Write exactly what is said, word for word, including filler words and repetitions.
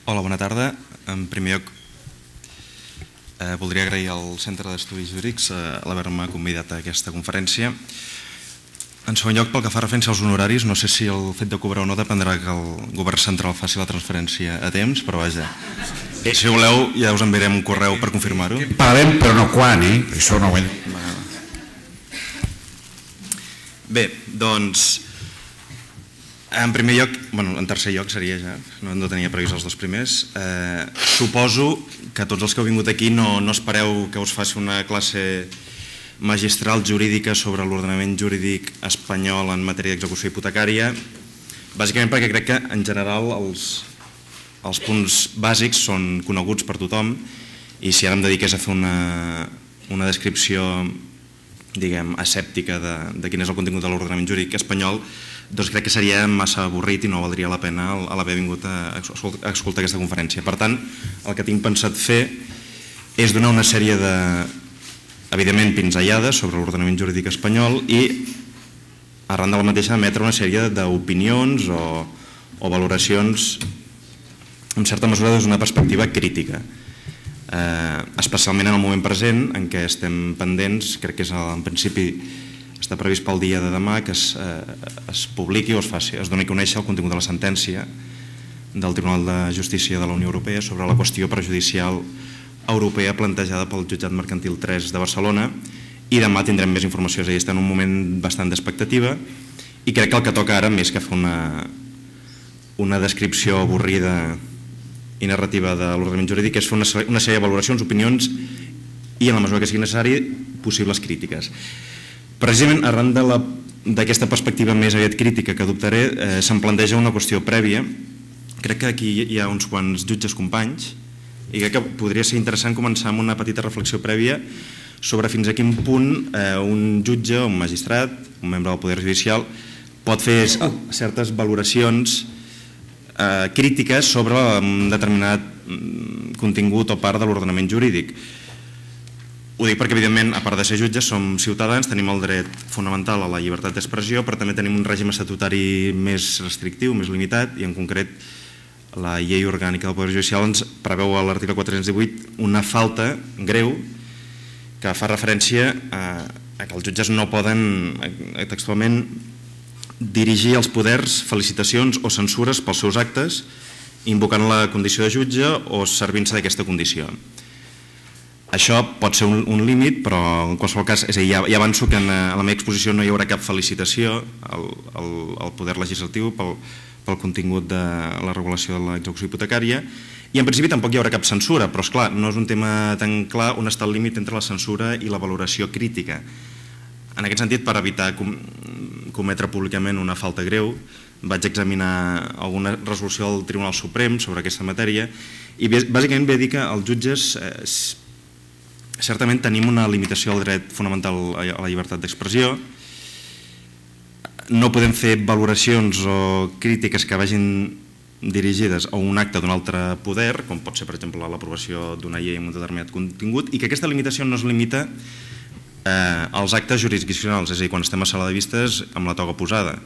Hola, bona tarda. En primer lloc, eh, voldria agrair al Centre d'Estudis Jurídics eh, l'haver-me convidat a aquesta conferència. En segon lloc, pel que fa referència als honoraris, no sé si el fet de cobrar o no dependrà que el govern central faci la transferència a temps, però vaja, si voleu ja us enviarem un correu per confirmar-ho. Pagarem, però no quan, eh? Això no ho he... Bé, doncs, en primer lloc, bueno, en tercer lloc seria ja, no, no tenia previst els dos primers, eh, suposo que tots els que heu vingut aquí no, no espereu que us faci una classe magistral jurídica sobre l'ordenament jurídic espanyol en matèria d'execució hipotecària, bàsicament perquè crec que en general els, els punts bàsics són coneguts per tothom i si ara em dediqués a fer una, una descripció, diguem, asèptica de, de quin és el contingut de l'ordenament jurídic espanyol, doncs crec que seria massa avorrit i no valdria la pena l'haver vingut a escoltar aquesta conferència. Per tant, el que tinc pensat fer és donar una sèrie de, evidentment, pinzellades sobre l'ordenament jurídic espanyol i, arran de la mateixa, emetre una sèrie d'opinions o, o valoracions, en certa mesura, des d'una perspectiva crítica. Eh, especialment en el moment present en què estem pendents, crec que és en principi està previst pel dia de demà que es, eh, es publiqui o es faci, es doni a conèixer el contingut de la sentència del Tribunal de Justícia de la Unió Europea sobre la qüestió prejudicial europea plantejada pel Jutjat Mercantil tres de Barcelona i demà tindrem més informació, és a dir, està en un moment bastant d'expectativa i crec que el que toca ara, més que fer una, una descripció avorrida i narrativa de l'ordenament jurídic, és fer una, una sèrie de valoracions, opinions i, en la mesura que sigui necessari, possibles crítiques. Precisament arran d'aquesta perspectiva més aviat crítica que adoptaré, eh, se'm planteja una qüestió prèvia. Crec que aquí hi ha uns quants jutges companys i crec que podria ser interessant començar amb una petita reflexió prèvia sobre fins a quin punt eh, un jutge, un magistrat, un membre del Poder Judicial pot fer certes valoracions eh, crítiques sobre un determinat contingut o part de l'ordenament jurídic. Ho dic perquè, evidentment, a part de ser jutges, som ciutadans, tenim el dret fonamental a la llibertat d'expressió, però també tenim un règim estatutari més restrictiu, més limitat, i en concret la llei orgànica del Poder Judicial ens preveu a l'article quatre-cents divuit una falta greu que fa referència a, a que els jutges no poden textualment dirigir als poders felicitacions o censures pels seus actes, invocant la condició de jutge o servint-se d'aquesta condició. Això pot ser un, un límit, però en qualsevol cas, és a dir, ja, ja avanço que en, en la meva exposició no hi haurà cap felicitació al, al, al poder legislatiu pel, pel contingut de la regulació de l'execució hipotecària i en principi tampoc hi haurà cap censura, però esclar, no és un tema tan clar on està el límit entre la censura i la valoració crítica. En aquest sentit, per evitar com, cometre públicament una falta greu, vaig examinar alguna resolució del Tribunal Suprem sobre aquesta matèria i bàsicament ve a dir que els jutges eh, certament tenim una limitació al dret fonamental a la llibertat d'expressió, no podem fer valoracions o crítiques que vagin dirigides a un acte d'un altre poder, com pot ser, per exemple, l'aprovació d'una llei amb un determinat contingut, i que aquesta limitació no es limita eh, als actes jurisdiccionals, és a dir, quan estem a sala de vistes amb la toga posada.